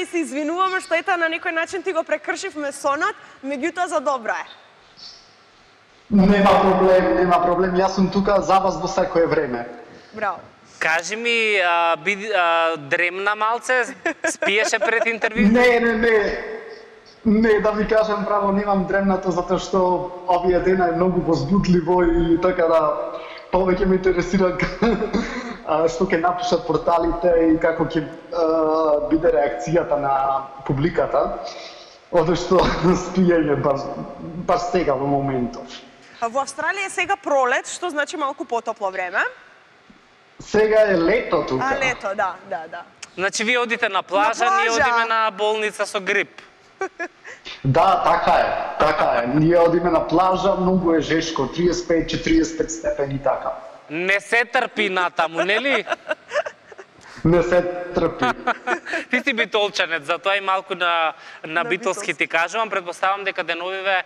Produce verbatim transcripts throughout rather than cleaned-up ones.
И се извинуваме што ета на некој начин ти го прекршивме сонот, меѓутоа за добро е. Нема проблем, нема проблем. Јас сум тука за вас во секое време. Браво. Кажи ми, а, би, а, дремна малце, спиеше пред интервју? Не, не, не. Не, да ви кажам право, немам дремнато затоа што овие дена е многу возбудливо и така да повеќе ме интересира што ќе напишат порталите и како ќе биде реакцијата на публиката, одошто спиење баш, баш сега во моментов. Во Австралија е сега пролет, што значи малку потопло време. Сега е лето тука. А, лето, да, да, да. Значи, вие одите на плажа, на плажа. ние одиме на болница со грип. Да, така е, така е. Ние одиме на плажа, многу е жешко, триесет и пет до четириесет и пет степени така. Не се трпи натаму, нели? Не се трпи. Ти си битолчанец, затоа и малку на, на, на битолски ти кажувам. Предпоставам дека деновиве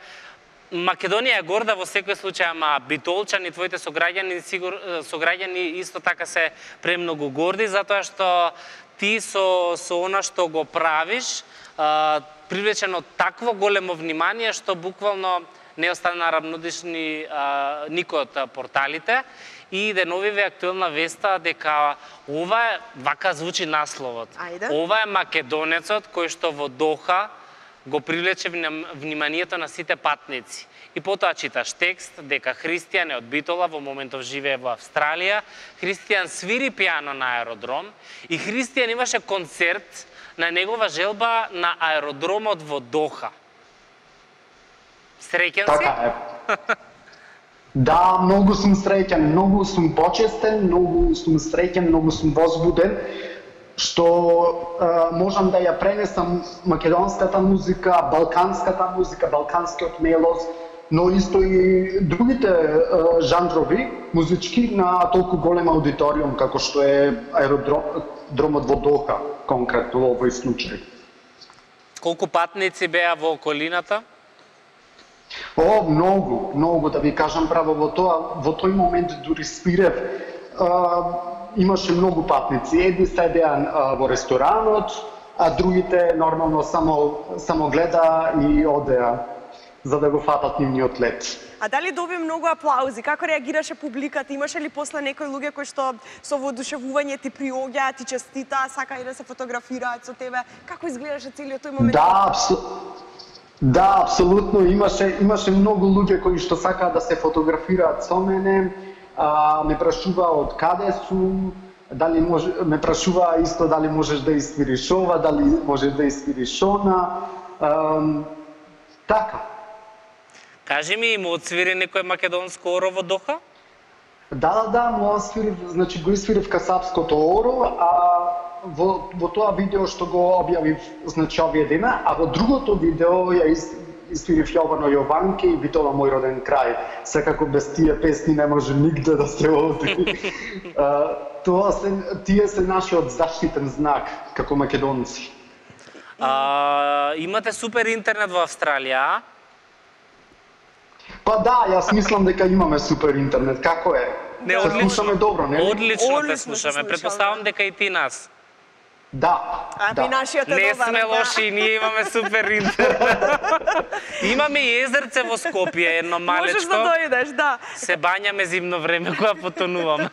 Македонија е горда во секој случај, ама битолчани, твоите сограѓани, сигур, сограѓани исто така се премногу горди, затоа што ти со, со она што го правиш, а, привлечено такво големо внимание, што буквално не остана равнодишни а, никој од порталите. И деновиве актуелна веста дека ова е, вака звучи насловот. Ајде. Ова е македонецот кој што во Доха го привлече вниманието на сите патници. И потоа читаш текст дека Христијан е од Битола, во моментов живее во Австралија. Христијан свири пијано на аеродром и Христијан имаше концерт на негова желба на аеродромот во Доха. Среќен си? Така е. Да, многу сум среќен, многу сум почестен, многу сум среќен, многу сум возбуден, што а, можам да ја пренесам македонската музика, балканската музика, балканскиот мелоз, но исто и другите а, жанрови музички на толку голем аудиториум како што е аеродромот во Доха, конкретно во овој случај. Колку патници беа во околината? О, многу, многу, да ви кажам право, во тоа, во тој момент дури спирев, а, имаше многу патници. Едни седеа а, во ресторанот, а другите нормално само само гледа и одеа за да го фатат нивниот лет. А дали доби многу аплаузи? Како реагираше публиката? Имаше ли после некои луѓе кои што со воодушевување ти приоѓаат, ти честитаа, сакаат да се фотографираат со тебе? Како изгледаше целиот тој момент? Да, абсо... да, апсолутно имаше имаше многу луѓе кои што сакаат да се фотографираат со мене, а, ме прашуваа од каде сум, дали може, ме прашуваа исто дали можеш да испириш ова, дали можеш да испириш она. А, така. Кажи ми, му отсвири некој македонско оро во Доха? Да, да, да, му освирив, значи го испирив касапското оро, а во, во тоа видео што го објавив, значи овие дена, а во другото видео ја испирив Јовано Јованке и Битола мој роден крај. Секако без тие песни не може нигде да се оди. Тоа се, тие се нашиот заштитен знак како македонци. А, имате супер интернет во Австралија? Па да, јас мислам дека имаме супер интернет. Како е? Не, се слушаме добро, не? Одлично те Одлично слушаме. се Предпоставам слушаме. дека и ти нас. Да, А да. би нашиот е Не добар. сме да. лоши, ние имаме супер интернет. Имаме и езерце во Скопје, едно Можеш малечко. да дојдеш, да. Се бањаме зимно време кога потонуваме.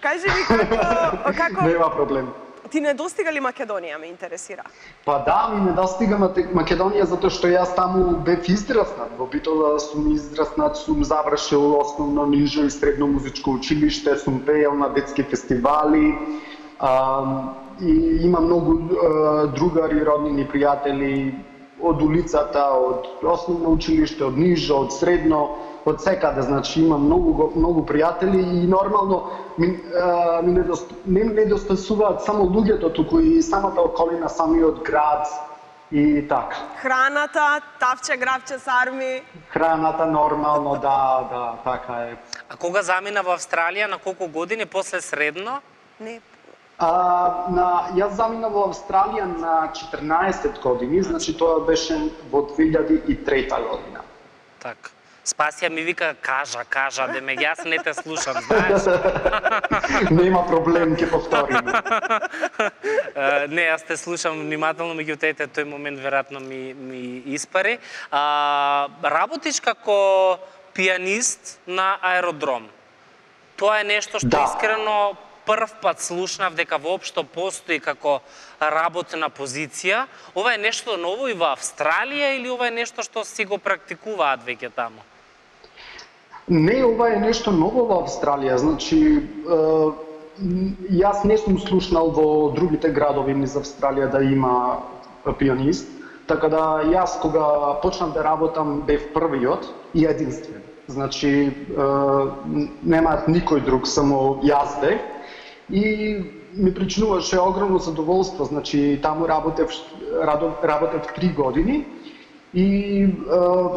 Кажи ми како како Нема проблем. ти недостига ли Македонија, ме интересира. Па да, ми недостига Македонија затоа што јас таму бев израснат. Во Битола сум израснат, сум завршил основно, нижо и средно музичко училиште, сум пеел на детски фестивали. А, и има многу а, другари, роднини, пријатели од улицата, од основно училиште, од нижо, од средно, од секаде, значи има многу многу пријатели и нормално ми, а, ми недост, не недостасуваат само луѓето, туку и самата околина, самиот град и така. Храната, тавче, гравче, сарми. Храната нормално, да, да, така е. А кога замина во Австралија, на колку години после средно? Не. А, на, јас замина во Австралија на четрнаесет години, значи тоа беше во две илјади и трета година. Така. Спасија ми вика, кажа, кажа, деме јас не те слушам, знаеш? Нема проблем, ќе повторим. Не, јас те слушам внимателно, меѓутоа тој момент веројатно ми, ми испари. А, работиш како пианист на аеродром. Тоа е нешто што да. искрено прв пат слушнав дека воопшто постои како работна позиција. Ова е нешто ново и во Австралија или ова е нешто што си го практикуваат веќе таму? Не, ова е нешто ново во Австралија. Значи, е, јас не сум слушнал во другите градови низ Австралија да има пианист, така да јас кога почнав да работам бев првиот и единствен. Значи, е, немаат никој друг, само јас бев. И ми причинуваше огромно задоволство. Значи, таму работев, работев три години и е,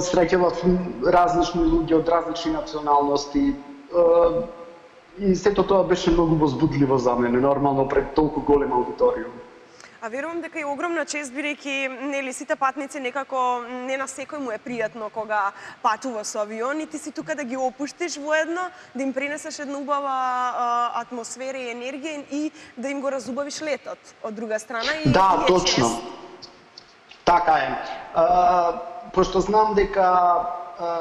среќавав различни луѓе од различни националности. Е, и сето тоа беше многу возбудливо за мене, нормално пред толку голем аудиториум. А верувам дека е огромна чест, бидејќи нели сите патници некако не на секој му е пријатно кога патува со авион и ти си тука да ги опуштиш воедно, да им пренесеш една убава а, атмосфера и енергија и да им го разубавиш летот од друга страна и да, е точно. чест. Така е. А, пошто знам дека а,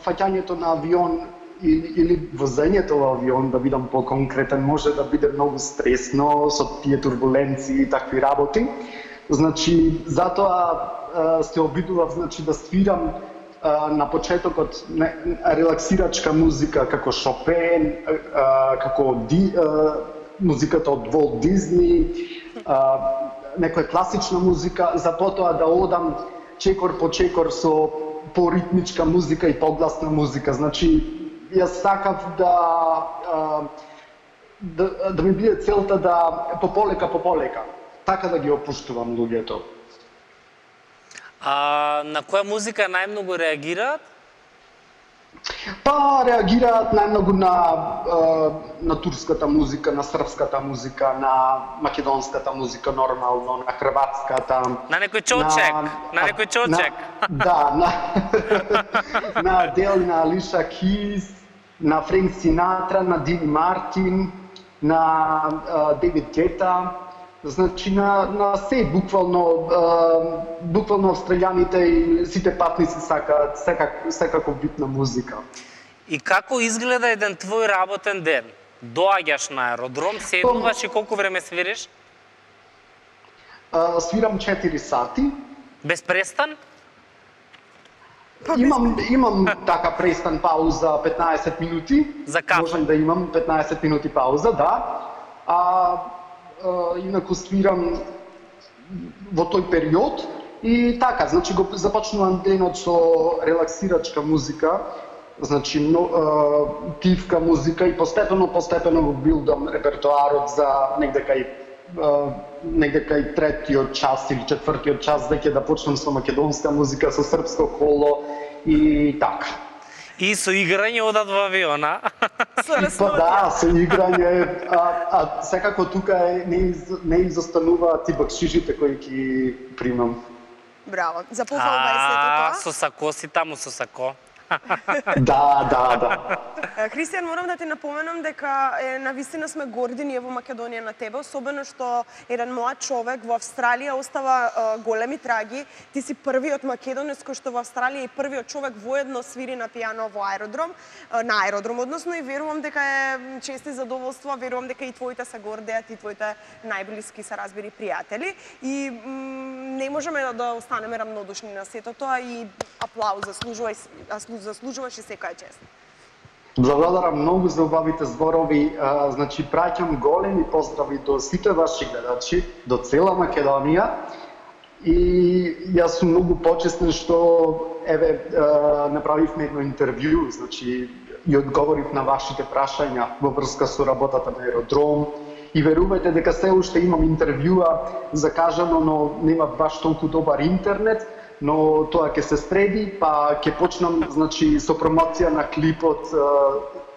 фаќањето на авион или, или возењето во авион, да бидам по-конкретен, може да биде многу стресно со тие турбуленции и такви работи. Значи, затоа а, се обидував, значи, да свирам а, на почетокот не, релаксирачка музика како Шопен, а, како ди, а, музиката од Волт Дизни, а, некоја класична музика, за потоа да одам чекор по чекор со поритмичка музика и погласна музика. Значи, јас сакав да, да, да ми биде целта да пополека, пополека, така да ги опуштувам луѓето. А на која музика најмногу реагираат? Па реагираат најмногу на, на турската музика, на српската музика, на македонската музика нормално, на хрватската. На некој чочек, на, на некој чочек. На, да, на, на Адел, на Алиша Кис, на Френк Синатра, на Дин Мартин, на Девид Гета. Значи на, на се буквално, е, буквално австралијаните и сите патници сакаат секак, секако битна музика. И како изгледа еден твој работен ден? Доаѓаш на аеродром, седнуваш и колку време свириш? Е, свирам четири сати. Без престан? Имам, имам така престан пауза петнаесет минути. За кафе? Можам да имам петнаесет минути пауза, да. А, Uh, инаку свирам во тој период и така, значи го започнувам денот со релаксирачка музика, значи но, uh, тивка музика и постепено постепено го билдам репертоарот за негде кај uh, негде кај третиот час или четвртиот час веќе да почнам со македонска музика, со српско коло и така. И со играње одат во авиона. Па да, со играње, а, а секако тука е, не, не изостанува ти бакшишите кои ги примам. Браво, за пофалба е сето тоа. Со сако си таму со сако. Да, да, да. Христијан, морам да ти напоменам дека е, навистина сме горди ние во Македонија на тебе, особено што еден млад човек во Австралија остава е, големи траги. Ти си првиот македонец кој што во Австралија и првиот човек воедно свири на пијано во аеродром, е, на аеродром односно, и верувам дека е чест и задоволство, верувам дека и твоите се гордеат и твоите најблиски се разбери пријатели и не можеме да останеме рамнодушни на сето тоа и аплауз заслужува заслужуваш и секоја чест. Благодарам многу за убавите зборови. А, значи, праќам големи поздрави до сите ваши гледачи, до цела Македонија. И јас сум многу почестен што еве а, направивме едно интервју, значи и одговорив на вашите прашања во врска со работата на аеродром. И верувајте дека се уште имам интервјуа закажано, но нема баш толку добар интернет. Но тоа ќе се среди, па ќе почнам, значи, со промоција на клипот.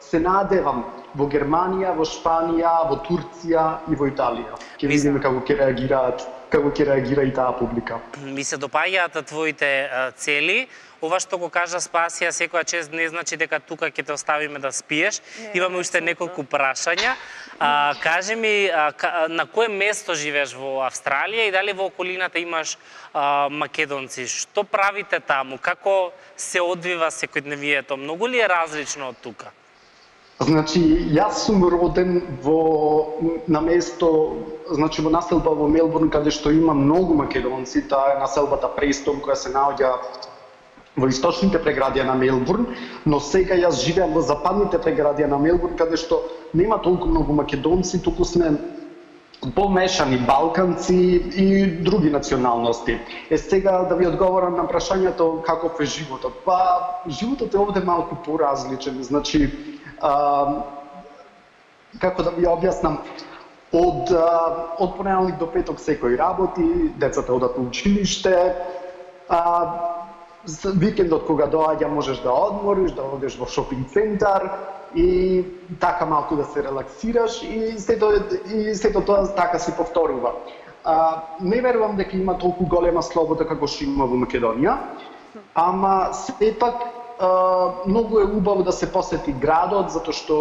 Се надевам во Германија, во Шпанија, во Турција и во Италија. Ќе видиме како ќе реагираат како ќе реагира и таа публика. Ми се допаѓаат твоите цели. Ова што го кажа Спасија, секоја чест не значи дека тука ќе те оставиме да спиеш. Не, Имаме уште неколку прашања. А, кажи ми, а, на кое место живееш во Австралија и дали во околината имаш а, македонци? Што правите таму? Како се одвива секојдневието? Многу ли е различно од тука? Значи, јас сум роден во на место, значи во населба во Мелбурн, каде што има многу македонци. Таа е населбата Престон, која се наоѓа во источните преградија на Мелбурн, но сега јас живеам во западните преградија на Мелбурн, каде што нема толку многу македонци, туку сме помешани балканци и други националности. Е сега да ви одговорам на прашањето каков е животот. Па животот е овде малку поразличен. Значи, а, како да ви објаснам, од од понеделник до петок секој работи, децата одат на училиште, а викендот кога доаѓа можеш да одмориш, да одиш во шопинг центар и така малку да се релаксираш и сето и сето тоа така се повторува. А, не верувам дека има толку голема слобода како што има во Македонија, ама сепак многу е убаво да се посети градот затоа што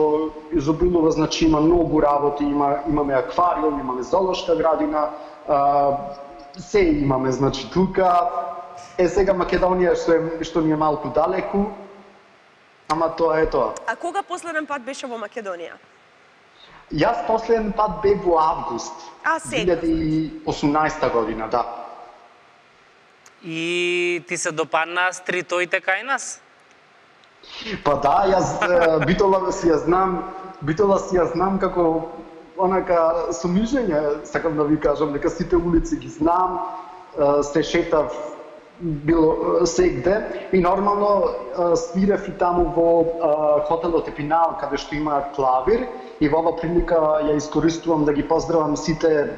изобилува, значи има многу работи, има имаме аквариум, имаме зоолошка градина, а, се имаме, значи тука. Е, сега Македонија што, е, што ни е малку далеку, ама тоа е тоа. А кога последен пат беше во Македонија? Јас последен пат бев во август. А, сега. две илјади и осумнаесета година, да. И ти се допаднаа стритоите кај нас? Па да, јас Битола си ја знам, Битола си ја знам како онака со мижење, сакам да ви кажам, дека сите улици ги знам, се шетав било сегде и нормално свирев и таму во хотелот Епинал, каде што има клавир, и во ова прилика ја искористувам да ги поздравам сите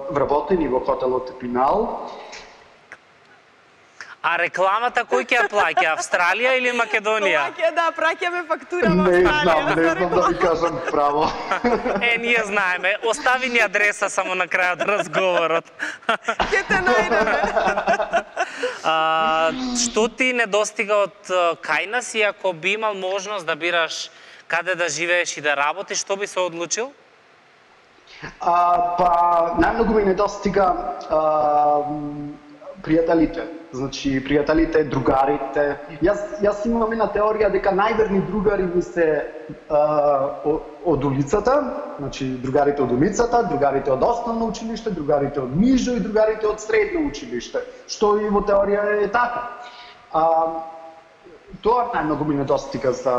вработени во хотелот Епинал. А рекламата кој ќе ја плаќа, Австралија или Македонија? Плаќа, да, праќаме фактура во Не Австралија. знам, не знам да ви кажам право. Е, ние знаеме. Остави ни адреса само на крајот разговорот. Ќе те најдеме. А, што ти недостига од кај нас и ако би имал можност да бираш каде да живееш и да работиш, што би се одлучил? А, па, најмногу ми недостига а, пријателите. Значи, пријателите, другарите. Јас, јас имам една теорија дека најверни другари ми се а, од улицата, значи другарите од улицата, другарите од основно училиште, другарите од нижо и другарите од средно училиште, што и во теорија е така. А, тоа најмногу ми недостига за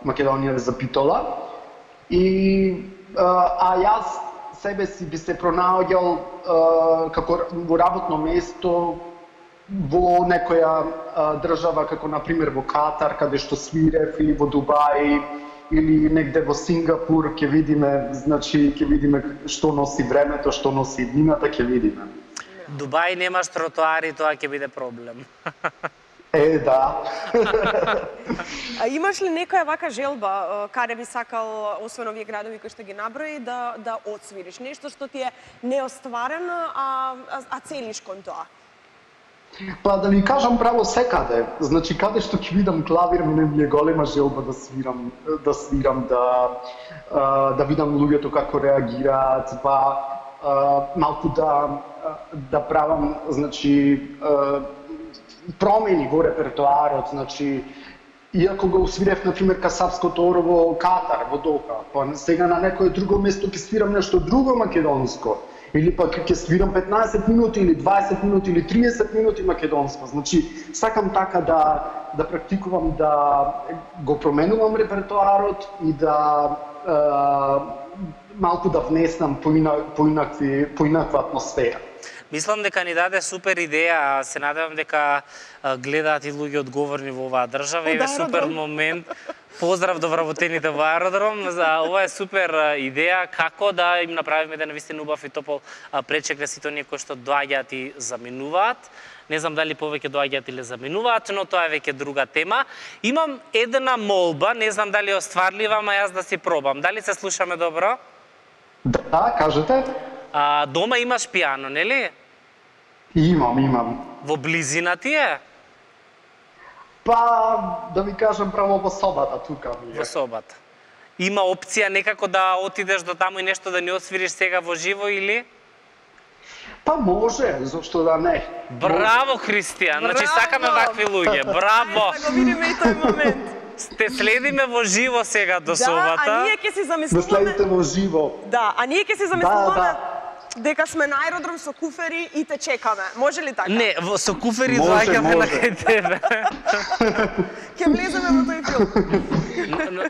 Македонија, за Битола. И а, а јас себе си би се пронаоѓал а, како во работно место во некоја а, држава како на пример во Катар, каде што свирев, или во Дубај, или негде во Сингапур, ќе видиме, значи ќе видиме што носи времето, што носи иднината, ќе видиме. Дубај немаш тротоари, тоа ќе биде проблем. Е, да. А имаш ли некоја вака желба каде би сакал, освен овие градови кои што ги наброи, да да одсвириш нешто што ти е неостварено, а а, а целиш кон тоа? Па да ви кажам право, секаде. Значи каде што ќе видам клавир, ми е голема желба да свирам, да свирам, да да видам луѓето како реагираат, па малку да да правам, значи промени во репертоарот, значи иако го свирев на пример касапското оро во Катар, во Доха, па сега на некое друго место ќе свирам нешто друго македонско. Или пак ќе свирам петнаесет минути или дваесет минути или триесет минути македонско. Значи, сакам така да да практикувам, да го променувам репертоарот и да е, малку да внесам поина, поинакви, поинаква атмосфера. Мислам дека ни даде супер идеја, се надевам дека гледаат и луѓе одговорни во оваа држава. Еве супер момент. Поздрав до вработените во аеродром. За ова е супер идеја како да им направиме да навистина убав и топол пречек за сите оние кои што доаѓаат и заминуваат. Не знам дали повеќе доаѓаат или заминуваат, но тоа е веќе друга тема. Имам една молба, не знам дали е остварлива, ама јас да си пробам. Дали се слушаме добро? Да, кажете. А, дома имаш пијано, нели? Имам, имам. Во близина ти е? Па, да ви кажам, право во собата тука ми е. Во собата. Има опција некако да отидеш до таму и нешто да ни освириш сега во живо или? Па може, зошто да не. Браво, Христијан, значи Браво! сакаме вакви луѓе, браво! Ајде да го видиме и тој момент. Сте следиме во живо сега до Да, собата. а ние ќе си Да замислуваме... следите во живо. Да, а ние ќе си Да, замислуваме да. дека сме на аеродром со куфери и те чекаме. Може ли така? Не, во со куфери Може, доаѓаме на може. кај тебе. Ќе влеземе во тој филм.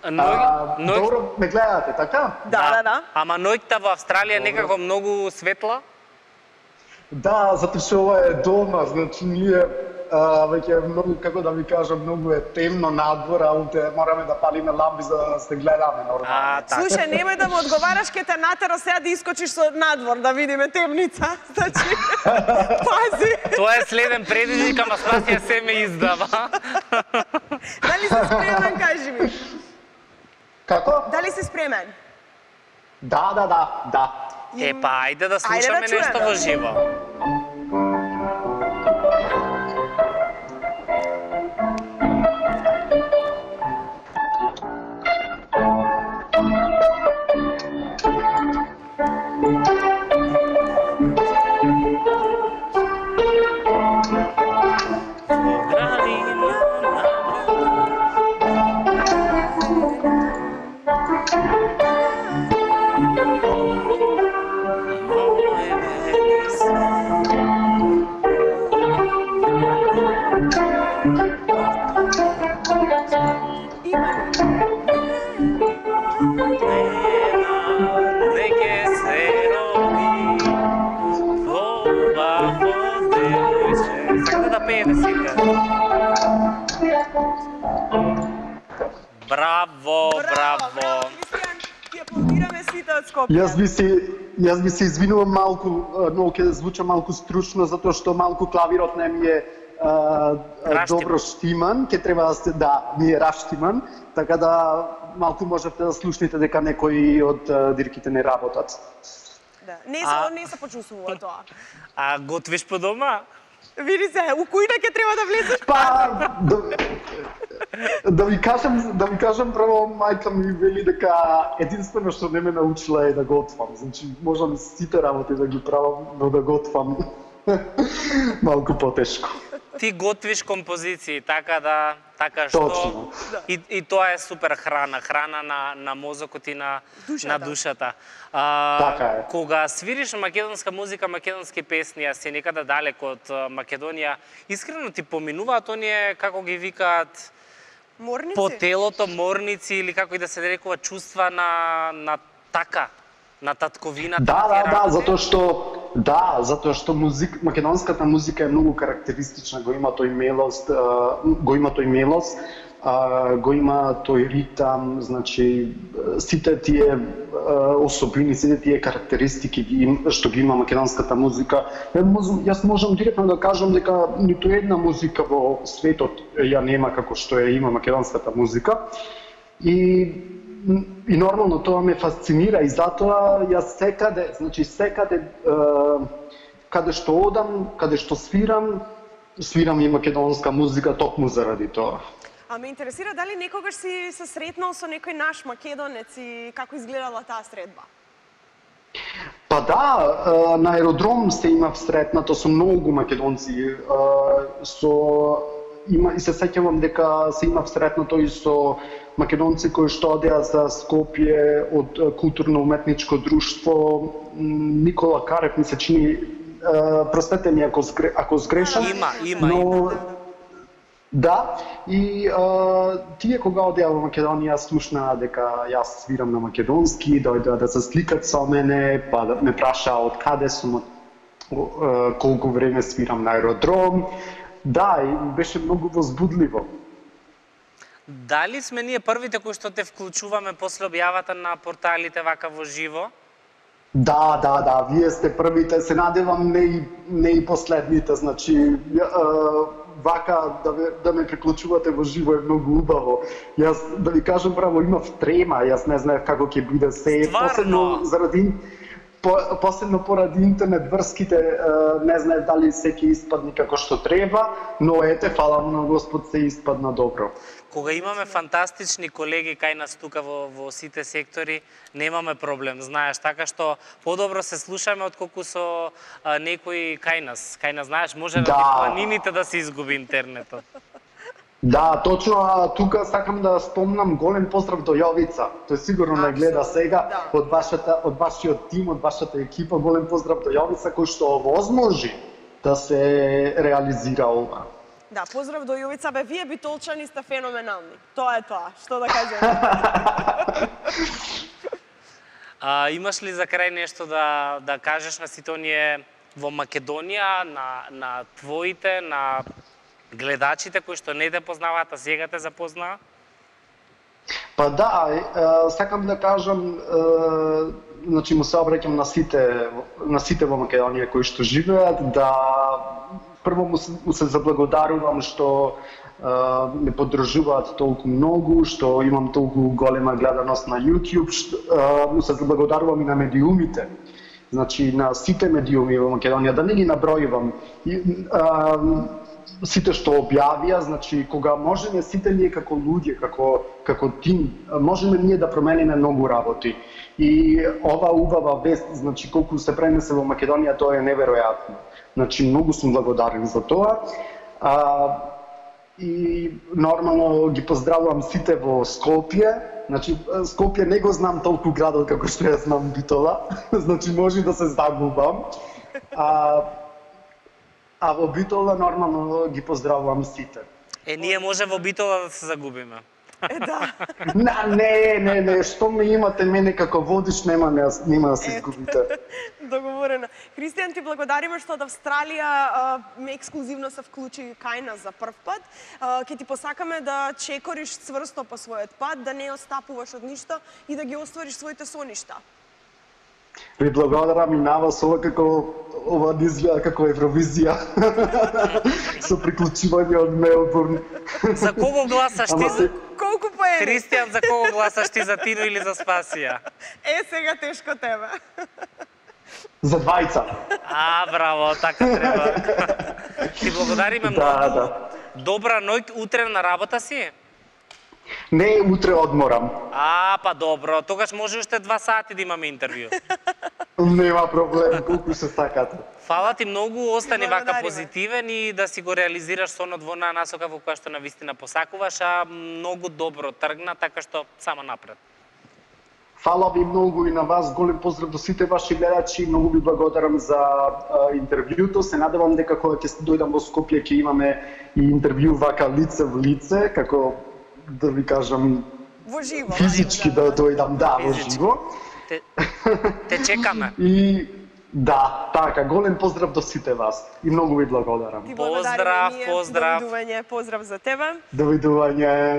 А, Ној, ној, добро, ме гледате, така? Да, да, да. Ама ноќта во Австралија некако многу светла. Да, затоа што ова е дома, значи ние а, веќе е многу, како да ви кажам, многу е темно надвор, а утре мораме да палиме ламби за да се гледаме нормално. А, така. Слушај, немој да му одговараш, ке те натера сега да искочиш со надвор, да видиме темница. Значи, пази. Тоа е следен предизвик, ама Спасија се ме издава. Дали си спремен, кажи ми? Како? Дали си спремен? Да, да, да, да. Е, па, ајде да Ајде да слушаме чуеме. нешто во живо. Веќе се роди ова девојче. Сакате да пеете сите? Браво, браво. Христијан, ти аплодираме сите од Скопје. Јас би се јас би се извинувам малку, но ќе звучам малку стручно затоа што малку клавирот не ми е а, а, Раштиман. добро штиман, ќе треба да се да ми е раштиман, така да малку можете да слушнете дека некои од а, дирките не работат. Да. Не А- се не се почувствува тоа. А готвиш по дома? Види се, у кујна ќе треба да влезеш. Па да, да ви кажам, да ви кажам право мајка ми вели дека единствено што не ме научила е да готвам. Значи можам сите работи да ги правам, но да готвам малку потешко. Ти готвиш композиции, така да, така што Точно. и, и тоа е супер храна, храна на на мозокот и на Душата. на душата. А, Така е. Кога свириш македонска музика, македонски песни, а си некаде далеко од а, Македонија, искрено ти поминуваат оние како ги викаат Морници? по телото морници или како и да се нарекува чувства на на така, на татковината. Да, на тие да, да, работи? затоа што да, затоа што музик, македонската музика е многу карактеристична, го има тој мелост, а, го има тој мелост, а, го има тој ритам, значи сите тие а, особини, сите тие карактеристики ги им, што ги има македонската музика. Ја можам, јас можам директно да кажам дека ниту една музика во светот ја нема како што ја има македонската музика. И И нормално тоа ме фасцинира и затоа јас секаде, значи секаде е, каде што одам, каде што свирам, свирам и македонска музика токму заради тоа. А ме интересира дали некогаш си се сретнал со некој наш македонец и како изгледала таа средба? Па да, е, на аеродром се имав сретнато со многу македонци, е, со има и се сеќавам дека се имав сретнато и со македонци кои што одеа за Скопје од е, културно-уметничко друштво м, Никола Карев ми се чини, е, простете ми ако сгре, ако сгрешам. Има, има, но, има. Да, и а, тие кога одеа во Македонија слушнаа дека јас свирам на македонски, дојдоа да се сликат со мене, па да ме прашаа од каде сум, од а, колку време свирам на аеродром. Да, и беше многу возбудливо. Дали сме ние првите кои што те вклучуваме после објавата на порталите вака во живо? Да, да, да, вие сте првите, се надевам не и, не и последните, значи ја, а, вака да, ме, да ме приклучувате во живо е многу убаво. Јас да ви кажам право имав трема, јас не знаев како ќе биде се. Стварно? Посебно заради по, посебно поради интернет врските, не знае дали секи испадни како што треба, но ете, фала на Господ, се испадна добро. Кога имаме фантастични колеги кај нас тука во, во сите сектори, немаме проблем, знаеш, така што подобро се слушаме отколку со а, некои кај нас. Кај нас, знаеш, може да, да. планините да се изгуби интернетот. Да, точно, а тука сакам да спомнам голем поздрав до Јовица. Тој сигурно не гледа сега, да. од вашата од вашиот тим, од вашата екипа, голем поздрав до Јовица кој што овозможи да се реализира ова. Да, поздрав до Јовица, бе, вие битолчани сте феноменални. Тоа е тоа, што да кажем. А, имаш ли за крај нешто да да кажеш на сите оние во Македонија, на на твоите, на гледачите кои што не те познаваат, а сега те запознаа? Па да, е, сакам да кажам, е, значи му се обраќам на сите на сите во Македонија кои што живеат, да прво му се, му се заблагодарувам што е, ме поддржуваат толку многу, што имам толку голема гледаност на YouTube, што, е, му се заблагодарувам и на медиумите. Значи на сите медиуми во Македонија, да не ги набројувам. И, е, сите што објавија, значи кога можеме сите ние како луѓе, како како тим, можеме ние да промениме многу работи. И ова убава вест, значи колку се пренесе во Македонија, тоа е неверојатно. Значи многу сум благодарен за тоа. А, и нормално ги поздравувам сите во Скопје. Значи Скопје не го знам толку градот како што ја знам Битола. Значи може да се загубам. А, А во Битола нормално ги поздравувам сите. Е, ние може во Битола да се загубиме. Е, да. Не, не, не, што ме имате мене како водич, нема, нема да се изгубите. Договорено. Христијан, ти благодариме што од Австралија ме ексклузивно се вклучи кај нас за прв пат. Ке ти посакаме да чекориш цврсто по својот пат, да не остапуваш од ништо и да ги оствариш своите соништа. Ви благодарам и на вас, ова како ова не изгледа како Евровизија. Со приклучување од Мелбурн. За кого гласаш ти? се... Колку поени? Христијан, за кого гласаш ти, за Тино или за Спасија? Е, сега тешко тебе. За двајца. А, браво, така треба. Ти благодариме многу. Да, да. Добра ноќ, утре на работа си? Не, утре одморам. А, па добро, тогаш може уште два сати да имаме интервју. Нема проблем, колку се сакате. Фала ти многу, остани вака Благодариме. позитивен и да си го реализираш сонот во онаа насока во која што навистина посакуваш, а многу добро тргна, така што само напред. Фала ви многу и на вас, голем поздрав до сите ваши гледачи, многу ви благодарам за а, интервјуто. Се надевам дека кога ќе дојдам во Скопје ќе имаме и интервју вака лице в лице, како да ви кажам Во живо. физички да дојдам, да, во живо. Те, те чекаме. И да, така, голем поздрав до сите вас и многу ви благодарам. Ти Поздрав, благодариме ние. поздрав. Довидување, поздрав за тебе. Довидување.